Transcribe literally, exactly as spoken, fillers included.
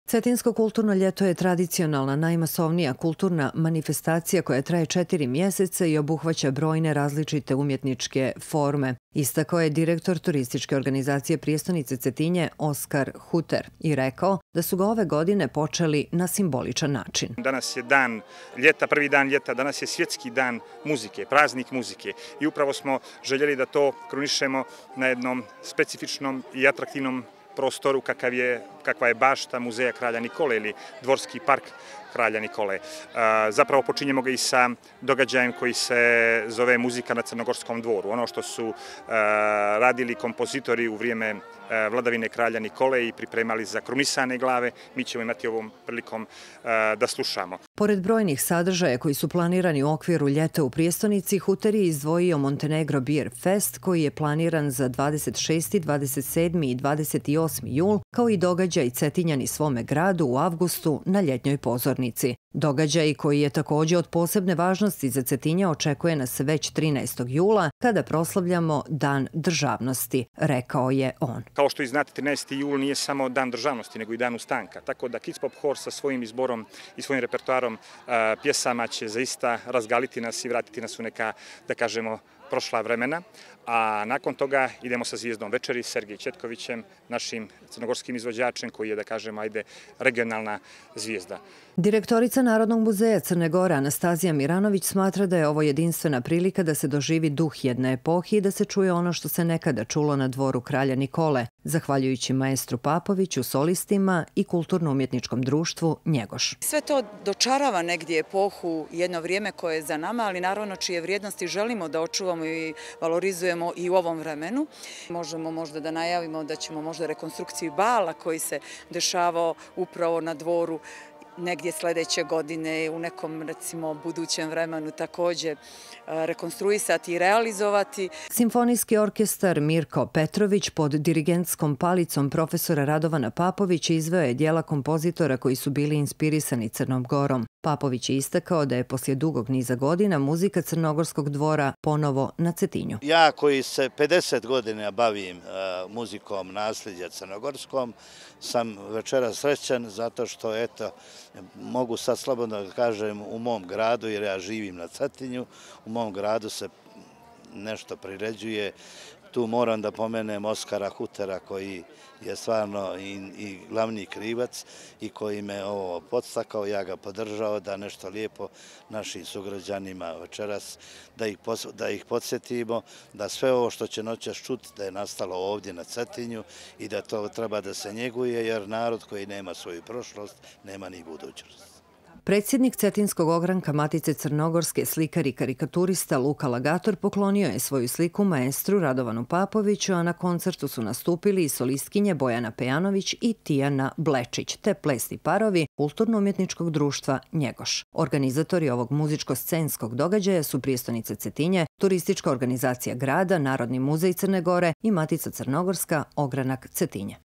Cetinsko kulturno ljeto je tradicionalna, najmasovnija kulturna manifestacija koja traje četiri mjeseca i obuhvaća brojne različite umjetničke forme. Istakao je direktor turističke organizacije prijestonice Cetinje Oskar Huter i rekao da su ga ove godine počeli na simboličan način. Danas je dan ljeta, prvi dan ljeta, danas je svjetski dan muzike, praznik muzike i upravo smo željeli da to krunišemo na jednom specifičnom i atraktivnom prostoru kakav je, kakva je bašta muzeja Kralja Nikole ili dvorski park Kralja Nikole. Zapravo počinjemo ga i sa događajem koji se zove Muzika na Crnogorskom dvoru. Ono što su radili kompozitori u vrijeme vladavine Kralja Nikole i pripremali za krunisane glave, mi ćemo imati ovom prilikom da slušamo. Pored brojnih sadržaja koji su planirani u okviru ljeta u prijestonici, Huter je izdvojio Montenegro Beer Fest koji je planiran za dvadeset šesti, dvadeset sedmi i dvadeset osmi jul, kao i događaj Cetinjani svome gradu u avgustu na ljetnjoj pozornici. Događaj koji je također od posebne važnosti za Cetinje očekuje nas već trinaestog jula kada proslavljamo Dan državnosti, rekao je on. Kao što i znate, trinaesti jul nije samo Dan državnosti, nego i Dan ustanka. Tako da Kids Pop Hor sa svojim izborom i svojim repertoarom pjesama će zaista razgaliti nas i vratiti nas u neka, da kažemo, prošla vremena, a nakon toga idemo sa Zvijezdom večeri, Sergej Četkovićem, našim crnogorskim izvođačem koji je, da kažemo, ajde, regionalna zvijezda. Direktorica Narodnog muzeja Crne Gore Anastazija Miranović smatra da je ovo jedinstvena prilika da se doživi duh jedne epohi i da se čuje ono što se nekada čulo na dvoru Kralja Nikole, zahvaljujući maestru Papoviću, solistima i kulturno-umjetničkom društvu Njegoš. Sve to dočarava negdje epohu, jedno vrijeme koje je za nama, ali naravno čije vrijednosti želimo da očuvamo i valorizujemo i u ovom vremenu. Možemo možda da najavimo da ćemo možda rekonstrukciju bala koji se dešavao upravo na dvoru negdje sljedeće godine u nekom, recimo, budućem vremenu također rekonstruisati i realizovati. Simfonijski orkestar Mirko Petrović pod dirigentskom palicom profesora Radovana Papovića izveo je djela kompozitora koji su bili inspirisani Crnom Gorom. Papović je istakao da je poslije dugog niza godina muzika Crnogorskog dvora ponovo na Cetinju. Ja koji se pedeset godina bavim muzikom nasljeđa crnogorskom, sam večeras srećan zato što, eto, mogu sad slobodno da kažem u mom gradu, jer ja živim na Cetinju, u mom gradu se nešto priređuje. Tu moram da pomenem Oskara Hutera koji je stvarno i, i glavni krivac i koji me ovo podstakao, ja ga podržao da nešto lijepo našim sugrađanima večeras, da ih, da ih podsjetimo, da sve ovo što će noćas čuti da je nastalo ovdje na Cetinju i da to treba da se njeguje, jer narod koji nema svoju prošlost nema ni budućnost. Predsjednik Cetinskog ogranka Matice Crnogorske, slikar i karikaturista Luka Lagator poklonio je svoju sliku maestru Radovanu Papoviću, a na koncertu su nastupili i solistkinje Bojana Pejanović i Tijana Blečić, te plesni parovi Kulturno-umjetničkog društva Njegoš. Organizatori ovog muzičko-scenskog događaja su prijestonica Cetinje, turistička organizacija grada, Narodni muzej Crne Gore i Matica Crnogorska, ogranak Cetinje.